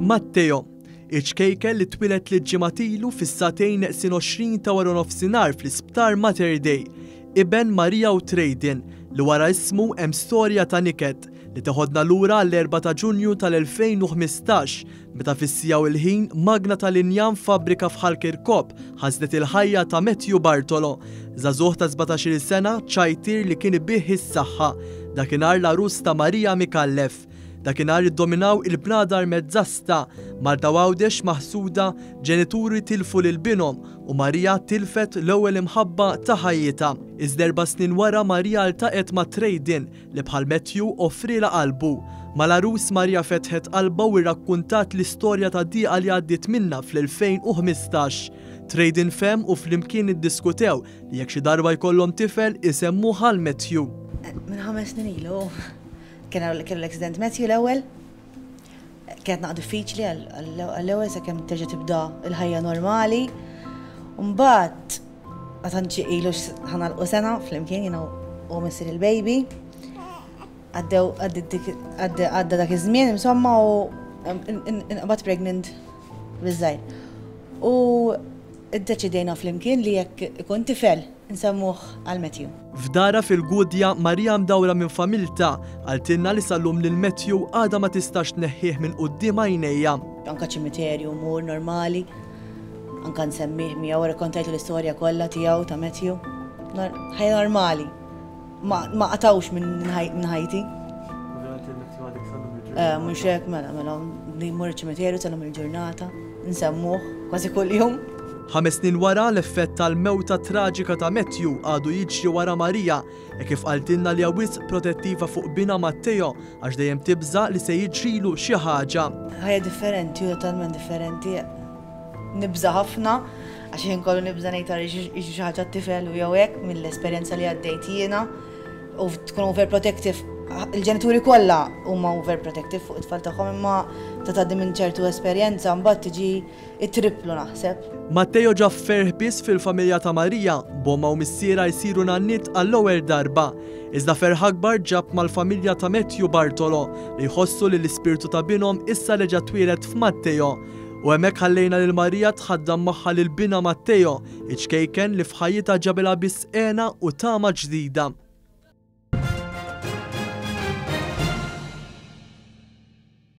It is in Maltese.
Matteo, iċ-ċkejken li twieled tliet ġimgħat ilu fis-sagħtejn neqsin 20 ta' waranofsinhar fl-Isptar Mater Dei, iben Maria u Treydin, li wara ismu hemm storja ta' niket li teħodna lura għall-4 ta' Ġunju tal-2015 meta fis-siegħa u l-ħin magna tal-injam f'fabbrika f'Ħal Kirkop ħasdet il-ħajja ta' Matthew Bartolo, żagħżugħ ta' 17-il sena ċajtier li kien ibigħ is-saħħa, dakinhar l-għarus ta' Maria Micallef. Dakinhar iddominaw il-bnadar mezzasta, Malta u Għawdex maħsuda, ġenituri tilfu lil binhom u Maria tilfet l-ewwel imħabba ta' ħajjitha. Iżda erba' snin wara Maria ltaqgħet ma' Treydin li bħal Matthew offrielha qalbu. Mal-għarus Maria fetħet qalbha u rrakkuntat l-istorja ta' dieqa li għaddiet minnha fl-2015. Treydin fehem u flimkien iddiskutew li jekk xi darba jkollhom tifel isemmuh għal Matthew. Minn ħames snin ilu. Kien kellu l-accident Matthew l-ewwel. Kienet naqra diffiċli għall-ewwel sakemm terġa' tibda l-ħajja normali. Mbagħad ma tantx ilu ħa nagħlqu sena flimkien jiena u missier il-baby. Għaddew għadda dak iż-żmien insomma u inqbad pregnant biż-żgħir. U iddeċidejna flimkien li jekk ikun tifel nsemmuh għal Matthew. F'darha fil-Gudja, Maria mdawra minn familtha, qaltilna li sal-lum lil Matthew għadha ma tistax tneħħih minn quddiem għajnejha. Anka ċimiterju mmur normali, anka nsemmih miegħu, rrakkontajtu l-istorja kollha tiegħu ta' Matthew. Ħajja normali. Ma qatgħux minn ħajti. Ovvjament il-Matthew għadek sal-lum il-ġurnata. Eh, mhux hekk mela, mela, mmur iċ-ċimiterju sal-lum il-ġurnata, nsemmuh kważi kuljum. Ħames snin wara, l-effett tal-mewta traġika ta' Matthew għadu jiġri wara Maria, hekk kif qaltilna li hija wisq protettiva fuq binha Matteo għax dejjem tibża' li se jiġrilu xi ħaġa. Ħajja differenti u totalment differenti. Nibża' ħafna għax ħin kollu nibża' ngħid ara jiġri xi ħaġa t-tifel u jew hekk mill-esperjenza li għaddejt jiena u tkun overprotective. Il-ġenituri kollha huma overprotective fuq it-tfal tagħhom imma ta' tgħaddi minn ċertu esperjenza mbagħad tiġi it-triplu naħseb. Matteo ġab ferħ biss fil-familja ta' Maria, b'ommha u missierha jsiru nanniet għall-ewwel darba. Iżda ferħ akbar ġab mal-familja ta' Matthew Bartolo, li jħossu li l-ispirtu ta' binhom issa reġa' twieled f'Matteo. U hemmhekk ħallejna lil Maria tħaddan magħha lil binha Matteo, iċ-ċkejken li f'ħajjitha ġabilha biss hena u tama ġdida.